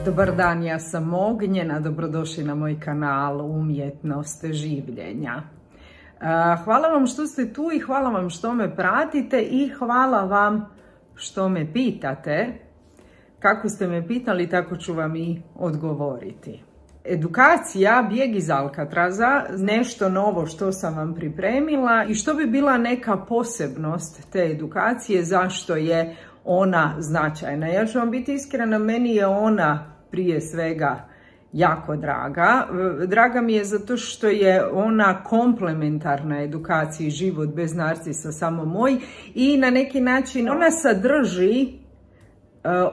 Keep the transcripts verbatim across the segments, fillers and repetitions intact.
Dobar dan, ja sam Ognjena, dobrodošli na moj kanal Umjetnost življenja. Hvala vam što ste tu i hvala vam što me pratite i hvala vam što me pitate. Kako ste me pitali, tako ću vam i odgovoriti. Edukacija Bijeg iz Alcatraza, nešto novo što sam vam pripremila i što bi bila neka posebnost te edukacije, zašto je ona značajna. Ja ću vam biti iskrena, meni je ona prije svega jako draga. Draga mi je zato što je ona komplementarna edukaciji Život bez narcisa samo moj i na neki način ona sadrži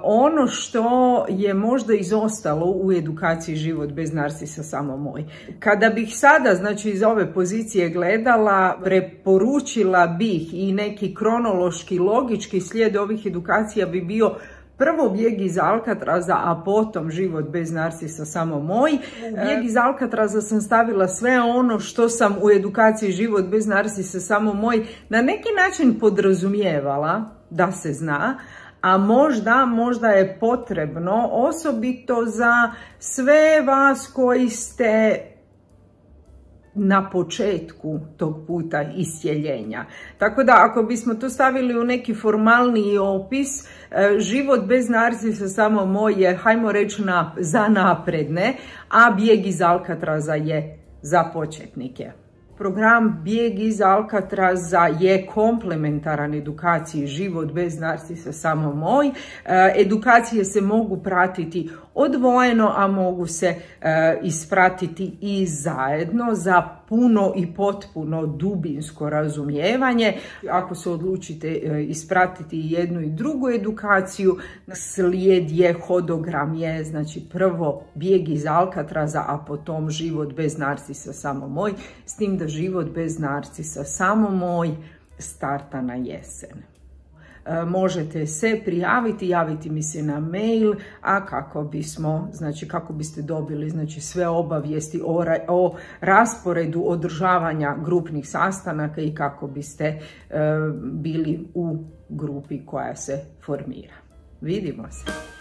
ono što je možda izostalo u edukaciji Život bez narcisa samo moj. Kada bih sada, znači iz ove pozicije gledala, preporučila bih i neki kronološki, logički slijed ovih edukacija bi bio prvo Bijeg iz Alcatraza, a potom Život bez narcisa samo moj. U Bijeg iz Alcatraza sam stavila sve ono što sam u edukaciji Život bez narcisa samo moj na neki način podrazumijevala da se zna, a možda, možda je potrebno osobito za sve vas koji ste na početku tog puta iscjeljenja. Tako da ako bismo to stavili u neki formalniji opis, Život bez narcisa samo moj je, hajmo reći, na, za napredne, a Bijeg iz Alcatraza je za početnike. Program Bijeg iz Alcatraza je komplementaran edukaciji Život bez narcisa samo moj. Edukacije se mogu pratiti odvojeno, a mogu se ispratiti i zajedno za puno i potpuno dubinsko razumijevanje. Ako se odlučite ispratiti jednu i drugu edukaciju, slijed je, hodogram je, znači prvo Bijeg iz Alcatraza, a potom Život bez narcisa samo moj, s tim da Život bez narcisa samo moj starta na jesen. Možete se prijaviti, javiti mi se na mail, a kako bismo, znači kako biste dobili znači sve obavijesti o, o rasporedu održavanja grupnih sastanaka i kako biste e, bili u grupi koja se formira. Vidimo se!